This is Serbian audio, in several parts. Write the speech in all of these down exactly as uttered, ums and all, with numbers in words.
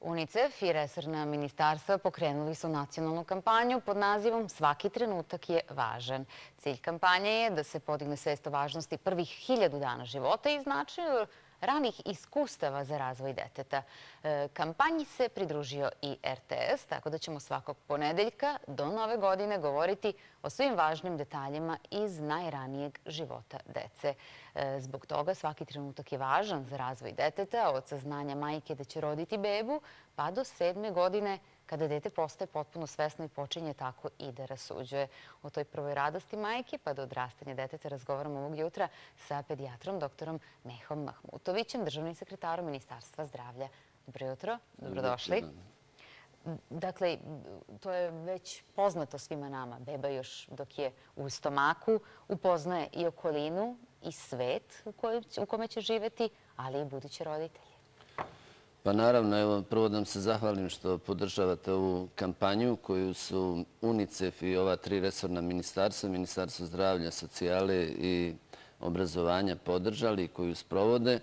UNICEF i resorna ministarstva pokrenuli su nacionalnu kampanju pod nazivom "Svaki trenutak je važan". Cilj kampanje je da se podigne svest o važnosti prvih hiljadu dana života i značaju ranih iskustava za razvoj deteta. Kampanji se pridružio i R T S, tako da ćemo svakog ponedeljka do nove godine govoriti o svim važnim detaljima iz najranijeg života dece. Zbog toga svaki trenutak je važan za razvoj deteta, od saznanja majke da će roditi bebu, pa do sedme godine kada dete postaje potpuno svesno i počinje tako i da rasuđuje. O toj prvoj radosti majke pa do odrastanja deteta razgovaramo ovog jutra sa pedijatrom doktorom Mehom Mahmutovićem, državnim sekretarom Ministarstva zdravlja. Dobro jutro, dobrodošli. Dakle, to je već poznato svima nama. Beba još dok je u stomaku upoznaje i okolinu i svet u kome će živeti, ali i budući roditelji. Pa naravno, evo, prvo da vam se zahvalim što podržavate ovu kampanju koju su UNICEF i ova tri resorna ministarstva, Ministarstvo zdravlja, socijale i obrazovanja podržali i koju sprovode.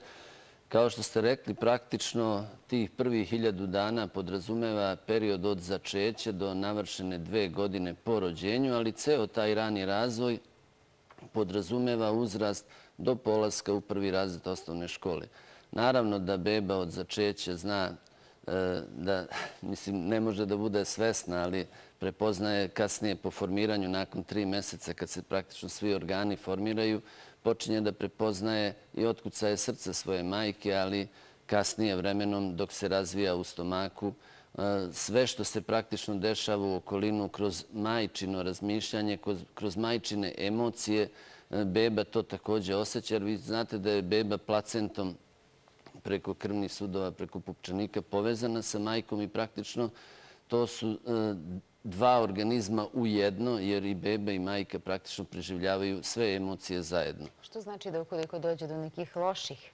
Kao što ste rekli, praktično tih prvih hiljadu dana podrazumeva period od začeća do navršene dve godine po rođenju, ali ceo taj rani razvoj podrazumeva uzrast do polaska u prvi razred osnovne škole. Naravno da beba od začeća zna da, mislim, ne može da bude svesna, ali prepoznaje kasnije po formiranju, nakon tri meseca, kad se praktično svi organi formiraju, počinje da prepoznaje i otkucaje srca svoje majke, ali kasnije vremenom dok se razvija u stomaku, sve što se praktično dešava u okolinu kroz majčino razmišljanje, kroz majčine emocije, beba to također osjeća, jer vi znate da je beba placentom preko krvnih sudova, preko pupčanika povezana sa majkom i praktično to su dva organizma u jedno, jer i beba i majka praktično preživljavaju sve emocije zajedno. Što znači da ukoliko dođe do nekih loših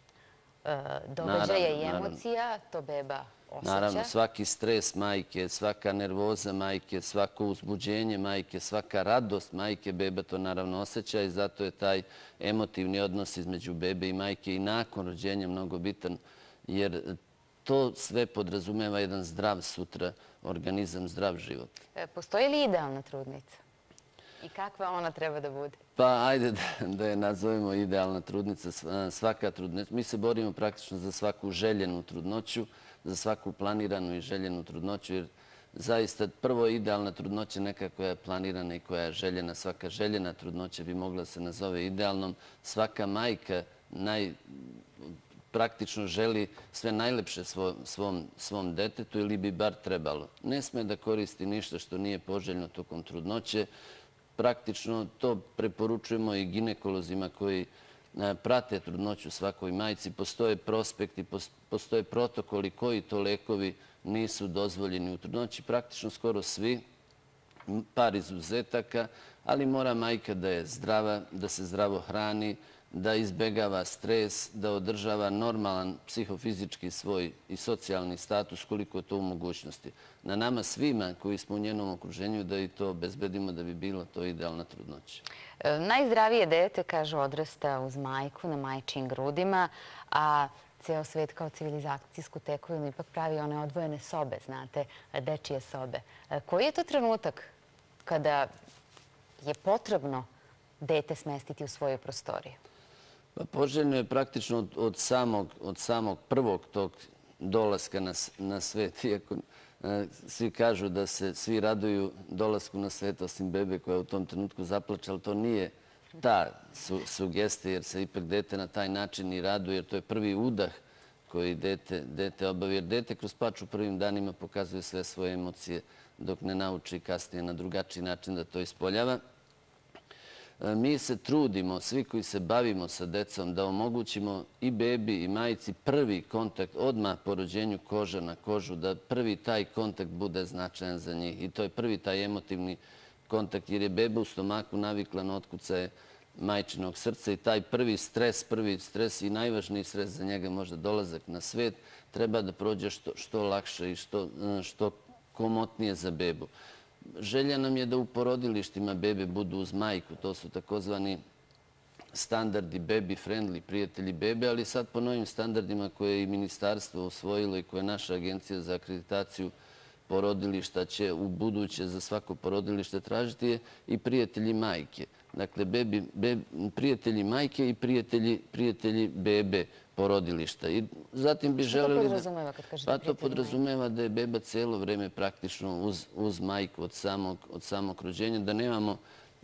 događaja i emocija, to beba osjeća? Naravno, svaki stres majke, svaka nervoza majke, svako uzbuđenje majke, svaka radost majke, beba to naravno osjeća i zato je taj emotivni odnos između bebe i majke i nakon rođenja mnogo bitan, jer to sve podrazumeva jedan zdrav sutra organizam, zdrav život. Postoji li idealna trudnica? I kakva ona treba da bude? Pa ajde da je nazovemo idealna trudnica, svaka trudnica. Mi se borimo praktično za svaku željenu trudnoću, za svaku planiranu i željenu trudnoću, jer zaista prvo idealna trudnoća neka koja je planirana i koja je željena. Svaka željena trudnoća bi mogla se nazove idealnom. Svaka majka naj praktično želi sve najlepše svom detetu ili bi bar trebalo. Ne sme da koristi ništa što nije poželjno tokom trudnoće. Praktično to preporučujemo i ginekolozima koji prate trudnoću svakoj majci. Postoje prospekti, postoje protokoli koji to lekovi nisu dozvoljeni u trudnoći. Praktično skoro svi, par izuzetaka, ali mora majka da je zdrava, da se zdravo hrani, da izbegava stres, da održava normalan psihofizički svoj i socijalni status koliko je to u mogućnosti. Na nama svima koji smo u njenom okruženju da i to obezbedimo da bi bilo to idealna trudnoća. Najzdravije dete, kažu, odrasta uz majku na majčijim grudima, a ceo svet kao civilizacijsku tekovinu ipak pravi one odvojene sobe, znate, dečije sobe. Koji je to trenutak kada je potrebno dete smestiti u svoju prostoriju? Poželjno je praktično od samog prvog tog dolaska na svet, iako svi kažu da se svi raduju dolasku na svet osim bebe koja u tom trenutku zaplače, ali to nije ta sugestija jer se ipak dete na taj način i raduje, jer to je prvi udah koji dete obavi. Jer dete kroz plač u prvim danima pokazuje sve svoje emocije dok ne nauči kasnije na drugačiji način da to ispoljava. Mi se trudimo, svi koji se bavimo sa decom, da omogućimo i bebi i majici prvi kontakt odmah po rođenju koža na kožu, da prvi taj kontakt bude značajan za njih. I to je prvi taj emotivni kontakt, jer je beba u stomaku navikla na otkucaje majčinog srca i taj prvi stres, prvi stres i najvažniji stres za njega, možda dolazak na svet, treba da prođe što lakše i što komotnije za bebu. Želja nam je da u porodilištima bebe budu uz majku. To su takozvani standardi baby friendly, prijatelji bebe, ali sad po novim standardima koje je i ministarstvo usvojilo i koje naša agencija za akreditaciju porodilišta će u buduće za svako porodilište tražiti je i prijatelji majke. Dakle, bebi, bebi, prijatelji majke i prijatelji, prijatelji bebe porodilišta. I zatim bi Što želeli to podrazumeva kad kažete pa to prijatelji podrazumeva da je beba cijelo vreme praktično uz, uz majku od samog, od samog rođenja, da nemamo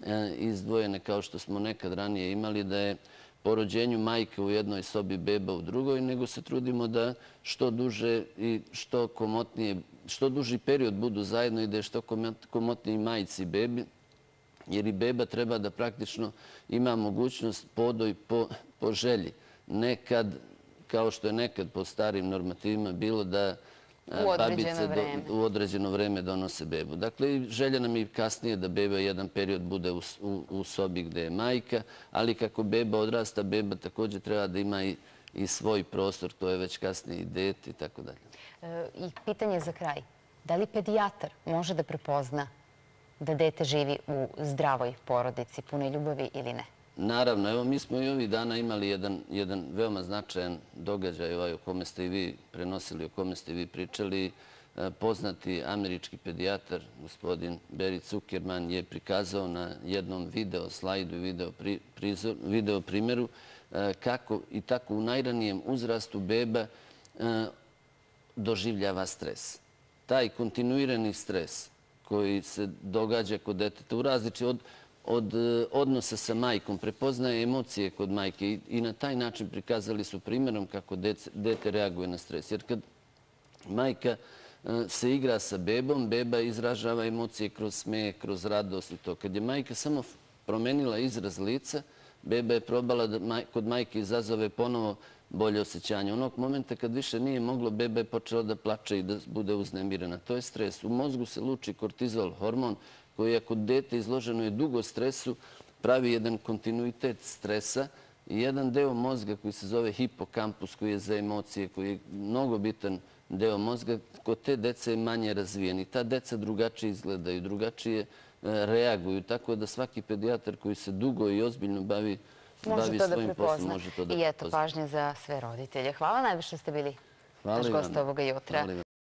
e, izdvojene kao što smo nekad ranije imali, da je po rođenju majke u jednoj sobi, beba u drugoj, nego se trudimo da što duže i što komotnije, što duži period budu zajedno i da je što komotniji majci i bebi, jer i beba treba da praktično ima mogućnost podoj po, po želji. Nekad, kao što je nekad po starim normativima bilo da babice do, u određeno vreme donose bebu. Dakle, želja nam je kasnije da beba jedan period bude u, u, u sobi gde je majka, ali kako beba odrasta, beba također treba da ima i, i svoj prostor, to je već kasnije i dete i tako dalje. I pitanje za kraj. Da li pedijatar može da prepozna da dete živi u zdravoj porodici, punoj ljubavi ili ne? Naravno, evo mi smo i ovih dana imali jedan, jedan veoma značajan događaj ovaj o kome ste i vi prenosili, o kome ste i vi pričali. Poznati američki pedijatar, gospodin Barry Zuckerman, je prikazao na jednom video slajdu i video, pri, prizor, video primjeru kako i tako u najranijem uzrastu beba doživljava stres. Taj kontinuirani stres koji se događa kod deteta u različi od, od odnosa sa majkom, prepoznaje emocije kod majke i, i na taj način prikazali su primjerom kako dece, dete reaguje na stres. Jer kad majka se igra sa bebom, beba izražava emocije kroz smijeh, kroz radost i to. Kad je majka samo promenila izraz lica, beba je probala da maj, kod majke izazove ponovo bolje osjećanje. Onog momenta kad više nije moglo, beba je počela da plače i da bude uznemirena. To je stres. U mozgu se luči kortizol, hormon, koji ako dete izloženo je dugo stresu, pravi jedan kontinuitet stresa i jedan deo mozga koji se zove hipokampus, koji je za emocije, koji je mnogo bitan deo mozga, kod te dece je manje razvijen. I ta deca drugačije izgledaju, drugačije reaguju. Tako da svaki pedijatar koji se dugo i ozbiljno bavi Može to da prepozna. I eto, pažnje za sve roditelje. Hvala najviše što ste bili naš gost ovoga jutra.